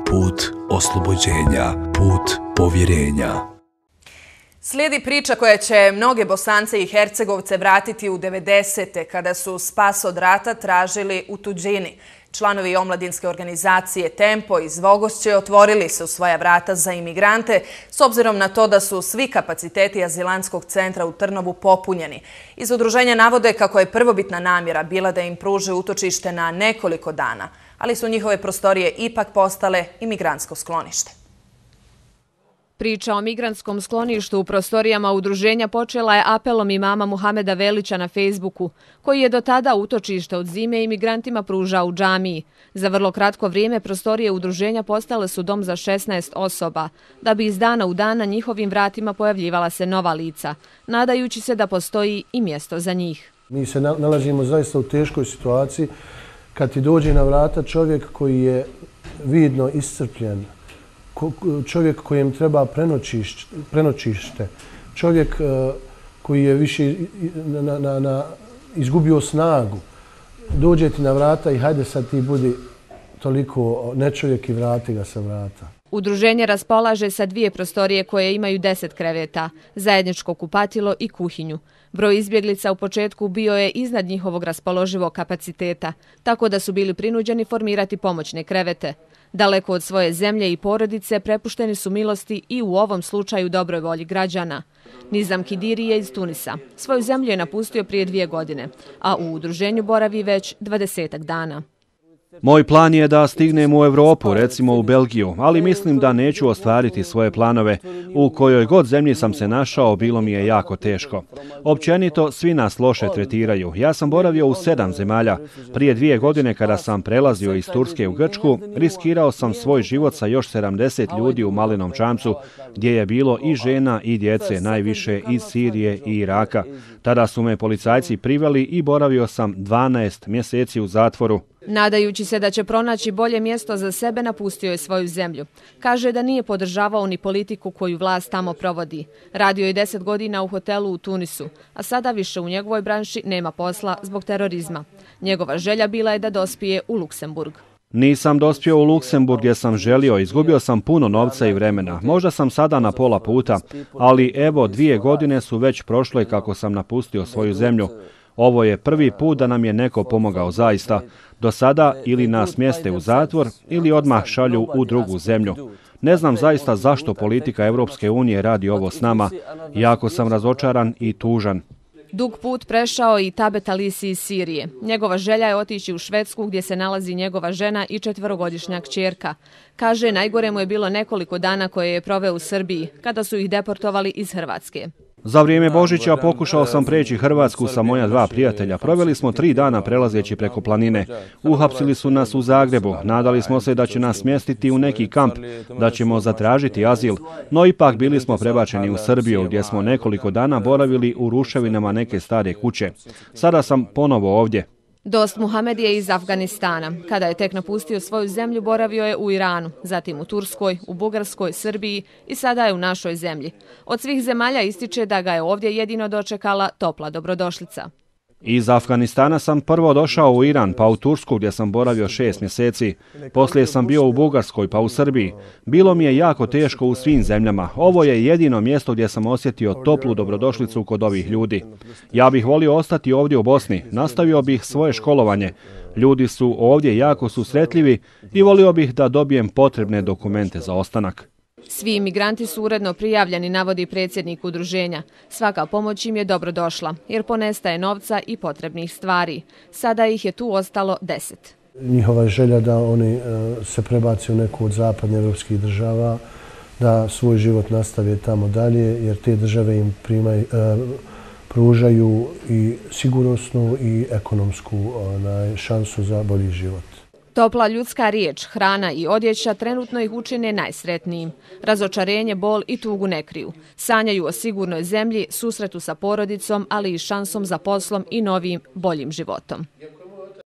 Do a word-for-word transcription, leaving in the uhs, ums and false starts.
put oslobođenja, put povjerenja. Slijedi priča koja će mnoge Bosance i Hercegovce vratiti u devedesete kada su spas od rata tražili u tuđini. Članovi omladinske organizacije Tempo iz Vogošće otvorili su svoja vrata za imigrante s obzirom na to da su svi kapaciteti azilantskog centra u Trnovu popunjeni. Iz udruženja navode kako je prvobitna namjera bila da im pruže utočište na nekoliko dana, ali su njihove prostorije ipak postale imigrantsko sklonište. Priča o migrantskom skloništu u prostorijama udruženja počela je apelom imama Muhameda Velića na Facebooku, koji je do tada utočište od zime imigrantima pružao u džamiji. Za vrlo kratko vrijeme prostorije udruženja postale su dom za šesnaest osoba, da bi iz dana u dan na njihovim vratima pojavljivala se nova lica, nadajući se da postoji i mjesto za njih. Mi se nalazimo zaista u teškoj situaciji kad ti dođe na vrata čovjek koji je vidno iscrpljen, čovjek kojem treba prenoćište, čovjek koji je više na, na, na, izgubio snagu. Dođe ti na vrata i hajde sad ti budi toliko nečovjek i vrati ga sa vrata. Udruženje raspolaže sa dvije prostorije koje imaju deset kreveta, zajedničko kupatilo i kuhinju. Broj izbjeglica u početku bio je iznad njihovog raspoloživog kapaciteta, tako da su bili prinuđeni formirati pomoćne krevete. Daleko od svoje zemlje i porodice prepušteni su milosti i u ovom slučaju dobroj volji građana. Nizam Kidiri je iz Tunisa. Svoju zemlju je napustio prije dvije godine, a u udruženju boravi već dvadesetak dana. Moj plan je da stignem u Evropu, recimo u Belgiju, ali mislim da neću ostvariti svoje planove. U kojoj god zemlji sam se našao, bilo mi je jako teško. Općenito, svi nas loše tretiraju. Ja sam boravio u sedam zemalja. Prije dvije godine kada sam prelazio iz Turske u Grčku, riskirao sam svoj život sa još sedamdeset ljudi u Malenom Čamcu, gdje je bilo i žena i djece, najviše iz Sirije i Iraka. Tada su me policajci priveli i boravio sam dvanaest mjeseci u zatvoru. Nadajući se da će pronaći bolje mjesto za sebe, napustio je svoju zemlju. Kaže da nije podržavao ni politiku koju vlast tamo provodi. Radio je deset godina u hotelu u Tunisu, a sada više u njegovoj branši nema posla zbog terorizma. Njegova želja bila je da dospije u Luksemburg. Nisam dospio u Luksemburg jer sam želio, izgubio sam puno novca i vremena. Možda sam sada na pola puta, ali evo dvije godine su već prošle kako sam napustio svoju zemlju. Ovo je prvi put da nam je neko pomogao zaista. Do sada ili nas smjeste u zatvor ili odmah šalju u drugu zemlju. Ne znam zaista zašto politika Europske unije radi ovo s nama. Jako sam razočaran i tužan. Dug put prešao i Tabet Alisi iz Sirije. Njegova želja je otići u Švedsku gdje se nalazi njegova žena i četverogodišnja kćerka. Kaže, najgore mu je bilo nekoliko dana koje je proveo u Srbiji, kada su ih deportovali iz Hrvatske. Za vrijeme Božića pokušao sam preći Hrvatsku sa moja dva prijatelja. Proveli smo tri dana prelazeći preko planine. Uhapsili su nas u Zagrebu. Nadali smo se da će nas smjestiti u neki kamp, da ćemo zatražiti azil. No ipak bili smo prebačeni u Srbiju, gdje smo nekoliko dana boravili u ruševinama neke stare kuće. Sada sam ponovo ovdje. Dost Muhamed je iz Afganistana. Kada je tek napustio svoju zemlju, boravio je u Iranu, zatim u Turskoj, u Bugarskoj, Srbiji i sada je u našoj zemlji. Od svih zemalja ističe da ga je ovdje jedino dočekala topla dobrodošlica. Iz Afganistana sam prvo došao u Iran, pa u Tursku gdje sam boravio šest mjeseci. Poslije sam bio u Bugarskoj, pa u Srbiji. Bilo mi je jako teško u svim zemljama. Ovo je jedino mjesto gdje sam osjetio toplu dobrodošlicu kod ovih ljudi. Ja bih volio ostati ovdje u Bosni, nastavio bih svoje školovanje. Ljudi su ovdje jako susretljivi i volio bih da dobijem potrebne dokumente za ostanak. Svi imigranti su uredno prijavljeni, navodi predsjednik udruženja. Svaka pomoć im je dobro došla, jer ponestaje novca i potrebnih stvari. Sada ih je tu ostalo deset. Njihova je želja da oni se prebaci u neku od zapadnih evropskih država, da svoj život nastave tamo dalje, jer te države im primaju, pružaju i sigurnosnu i ekonomsku šansu za bolji život. Topla ljudska riječ, hrana i odjeća trenutno ih učine najsretnijim. Razočarenje, bol i tugu ne kriju. Sanjaju o sigurnoj zemlji, susretu sa porodicom, ali i šansom za poslom i novim, boljim životom.